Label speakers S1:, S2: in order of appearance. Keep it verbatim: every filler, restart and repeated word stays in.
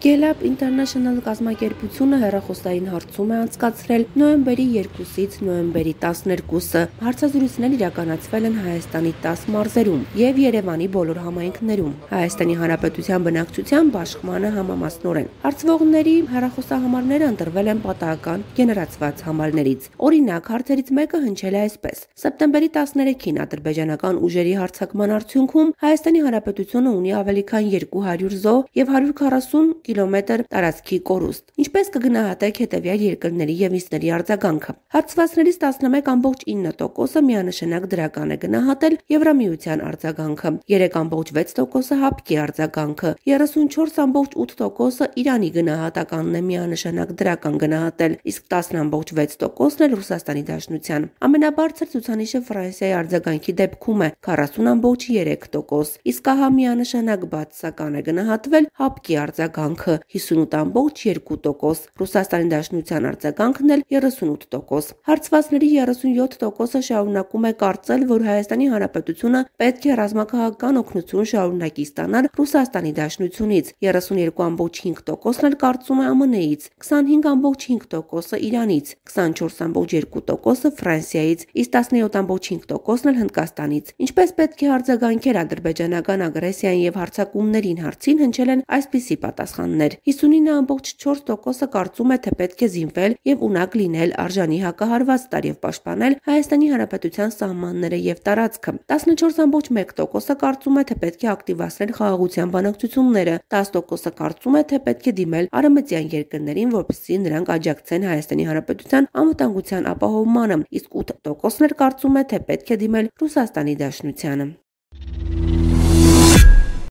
S1: Գելապ International կազմակերպությունը հեռախոսային հարցում է անցկացրել նոյեմբերի երկուսից նոյեմբերի տասներկուսը։ Հարցազրույցներ իրականացվել են Հայաստանի տասը մարզերում եւ Երևանի բոլոր համայնքներում։ Հայաստանի Հանրապետության բնակչության բաշխմանը համամասնորեն։ Հարցվողների հեռախոսահամարները ընտրվել են պատահական գեներացված համարներից։ Օրինակ, հարցերից մեկը հնչել է այսպես. Սեպտեմբերի տասներեքին ադրբեջանական ուժերի հարձակման արդյունքում Հայաստանի Հանրապետությունը ունի ավելի քան երկու հարյուր զոհ եւ հարյուր քառասուն կիլոմետր տարածքի կորուստ։ Ինչպես կգնահատեք հետևյալ երկրների եւ ինքների արձագանքը։ Հարցվածներից տասնմեկ կόμma ինը տոկոսը միանշանակ դրական է գնահատել Եվրամիության արձագանքը, երեք կόμma վեց տոկոսը հապկի արձագանքը, երեսունչորս կόμma ութ տոկոսը Իրանի գնահատականն է միանշանակ դրական գնահատել, իսկ տասը կόμma վեց տոկոսն էլ Ռուսաստանի Դաշնության։ Ամենաբարձր ցուցանիշը Ֆրանսիայի արձագանքի դեպքում է քառասուն կόμma երեք տոկոս, իսկ ահա միանշանակ բացասական է գնահատվել հապկի արձագանքը հիսունութ կόμma երկու տոկոս, Ռուսաստանի Դաշնության արձագանքն էլ երեսունութ տոկոս։ Հարցվածների երեսունյոթ տոկոսը շարունակում է կարծել, որ Հայաստանի Հանրապետությունը պետք է ռազմաքաղաքական օգնություն շարունակի ստանալ Ռուսաստանի Դաշնությունից, երեսունյոթ կόμma հինգ տոկոսն էլ կարծում է ԱՄՆ-ից, քսանհինգ կόμma հինգ տոկոսը Իրանից, քսանչորս կόμma երկու տոկոսը Ֆրանսիայից, իսկ տասնյոթ կόμma հինգ տոկոսն էլ Հնդկաստանից։ Ինչպես պետք է արձագանքել ադրբեջանական ագրեսիային եւ հարձակումներին հարցին հնչել են այսպիսի պատասխաններ. հիսունինը կόμma չորս տոկոսը կարծում է, թե պետք է զինվել եւ ունակ լինել արժանի հակահարված տալ եւ պաշտպանել Հայաստանի Հանրապետության սահմանները եւ տարածքը, տասնչորս կόμma մեկ տոկոսը կարծում է, թե պետք է ակտիվացնել խաղաղության բանակցությունները, տասը տոկոսը կարծում է, թե պետք է դիմել արևմտյան երկրներին, որպեսզի նրանք աջակցեն Հայաստանի Հանրապետության անվտանգության ապահովմանը, իսկ ութ տոկոսն էլ կարծում է, թե պետք է դիմել Ռուսաստանի Դաշնությանը։